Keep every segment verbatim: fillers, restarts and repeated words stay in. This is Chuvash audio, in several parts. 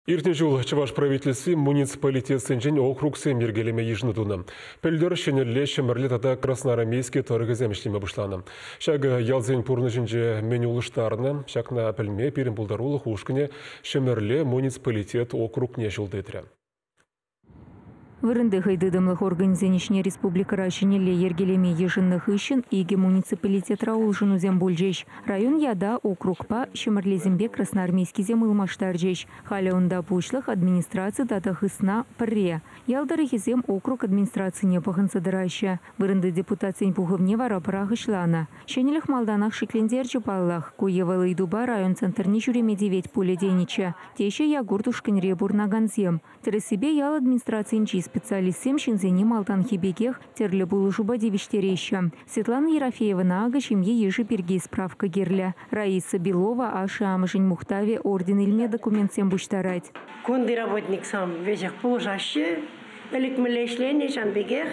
Иртнӗ ҫул Чӑваш правительстви муниципалитетсенчен округсем йӗркелеме йышӑну тунӑ. Пӗлтӗр Ҫӗнӗлле, Ҫӗмӗрле тата Красноармейски тӑрӑхӗсем ӗҫлеме пуҫланӑ. Ҫакӑ ялсен пурнӑҫӗнче мӗн улӑштарнӑ, ҫакна пӗлме пирӗн пултарулӑх ушкӑнӗ Ҫӗмӗрле муниципалитет округне ҫул тытрӗ. Вырӑнти хӑйтытӑмлӑх органӗсен ӗҫне республикӑра ҫӗнӗлле йӗркелеме йышӑннӑ хыҫҫӑн икӗ муниципалитетра улшӑнусем пулчӗҫ. Район ята округпа Ҫӗмӗрлесемпе Красноармейскисем ылмаштарчӗҫ. Халӗ унта пуҫлӑх, администраци тата хысна пӗрре. Ял тӑрӑхӗсем округ администрацине пӑхӑнса тӑраҫҫӗ. Вырӑнти депутатсен пухӑвне вара пӑрахӑҫланӑ. Ҫӗнӗлӗх малтанах шиклентерчӗ паллах. Ку е вӑл ыйтупа район центрне ҫӳреме тивет пулӗ тенӗччӗ. Теҫҫӗ Якур ушкӑнре пурӑнакансем. Тӗрӗссипе ял администрацийӗнчи специалистсем ҫынсене малтанхи пекех тӗрлӗ пулӑшупа тивӗҫтереҫҫӗ. Светлана Ерофеевӑна акӑ ҫемье йышӗ пирки справка кирлӗ. Раиса Белова ашшӗ-амӑшӗн мухтавӗ орден илме документсем пуҫтарать. Кунти работниксем веҫех пулӑшаҫҫӗ. Ӗлӗк мӗнле ӗҫленӗ ҫавӑн пекех.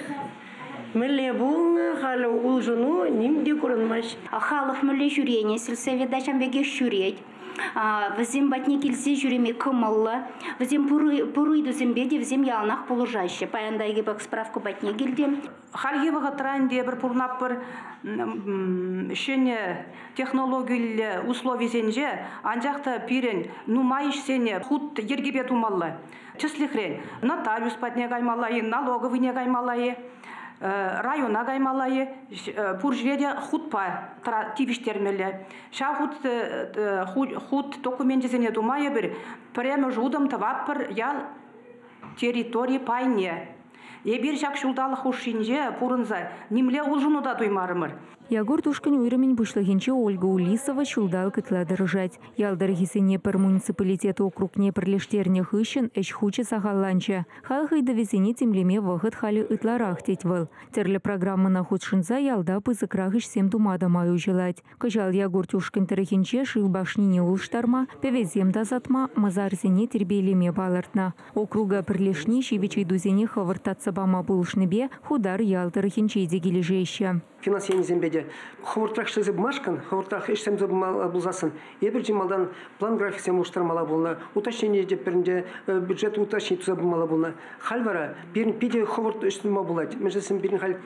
Мӗнле пулнӑ, халӗ улшӑну ним те курӑнмасть. Халӑх мӗнле ҫӳренӗ, сельсовета ҫавӑн пекех ҫӳрет. Вӗсем патне килсе ҫӳреме кӑмӑллӑ, вӗсем пур ыйтусемпе те вӗсем яланах пулӑшаҫҫӗ. Паян та эпӗ справка патне килтӗм. Хальхи вӑхӑтра ӗнтӗ эпир пурӑнатпӑр ҫӗнӗ технологиллӗ условисенче, анчах та пирӗн нумай ӗҫсене хут йӗркепе тумалла. Тӗслӗхрен, нотариус патне каймалла-и, налоговыйне каймалла-и, района каймалла-и, пур ҫӗре те хутпа тивӗҫтермелле. Ҫав хут, хут докуменчӗсене тума эпир пӗрремӗш утӑм тӑватпӑр ял территори пайне. Эпир ҫак ҫулталӑк хушшинче пурӑнса нимле улшӑну та туймарӑмӑр. Якур ушкӑн уйрӑмӗн пуҫлӑхӗнче Ольга Улисова ҫулталӑк ытла тӑрӑшать. Ял тӑрӑхӗсене пӗр муниципалитет округне пӗрлештернӗ хыҫҫӑн ӗҫ хучӗ сахалланчӗ. Халӑх ыйтӑвӗсене тимлеме вӑхӑт халӗ ытларах тет вӑл. Тӗрлӗ программӑна хутшӑнса ялта пысӑкрах ӗҫсем тума та май уҫӑлать. Кӑҫал Якур ушкӑн тӑрӑхӗнче шыв башнине улӑштарма, пӗвесем тасатма, масарсене тирпейлеме палӑртнӑ. Округа пӗрлешни ҫивӗч ыйтусене хӑвӑрт татса пама пулӑшнипе Хутар ял тӑрӑхӗнче те килӗшеҫҫӗ. Финанс енӗсемпе те хӑвӑртрах ӗҫлесе пымашкӑн, хӑвӑртрах ӗҫсем пулсассӑн, эпир чи малтан план графиксем улӑштармалла пулнӑ, уточнение те пӗринче бюджет уточнить туса пымалла пулнӑ. Халь вара пирӗн питӗ хӑвӑрт ӗҫ тума пулать. Мӗншӗн пирӗн халь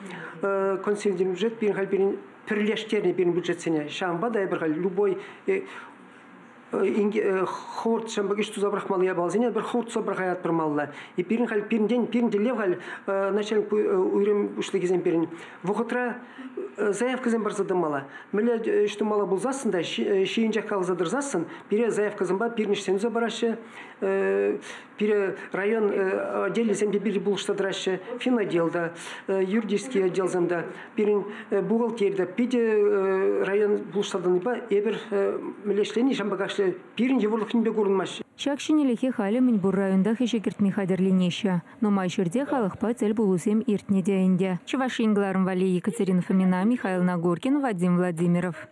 консолидированный бюджет, пирӗн халь пирӗн пӗрлештернӗ пирӗн бюджетсене. Ҫавӑнпа та эпир халь любой хӑвӑрт ҫампа ӗҫ туса пӑрахмалли япаласене пӗр хӑвӑрт туса пӑрахаятпӑр. И пирӗн халь пирӗнтен пирӗн тӗллев халь начальник уйрӑм пуҫлӑхӗсем пирӗн вӑхӑтра заявкӑсем парса тӑмалла. Мӗнле ӗҫ тумалла пулсассӑн та ҫийӗнчех каласа тӑрсассӑн пире заявкӑсемпе пирӗн ӗҫсем туса параҫҫӗ. Пире район отделӗсем те пире пулӑшса тӑраҫҫӗ, финотдел та, юридический отделсем та, пирӗн бухгалтери та питӗ район пулӑшса тӑнипе эпир мӗнле ӗҫлени ҫампа кашле пирӗн йывӑрлӑх нимпе курӑнмасть. Ҫак ҫӗнӗлӗхе халӗ мӗнпур районтах ӗҫе кӗртме хатӗрленеҫҫӗ. Нумай ҫӗрте халӑхпа тӗл пулусем иртнӗ те ӗнтӗ. Чӑваш Ен кӑларӑм валли Екатерина Фомина, Михаил Нагоркин, Вадим Владимиров.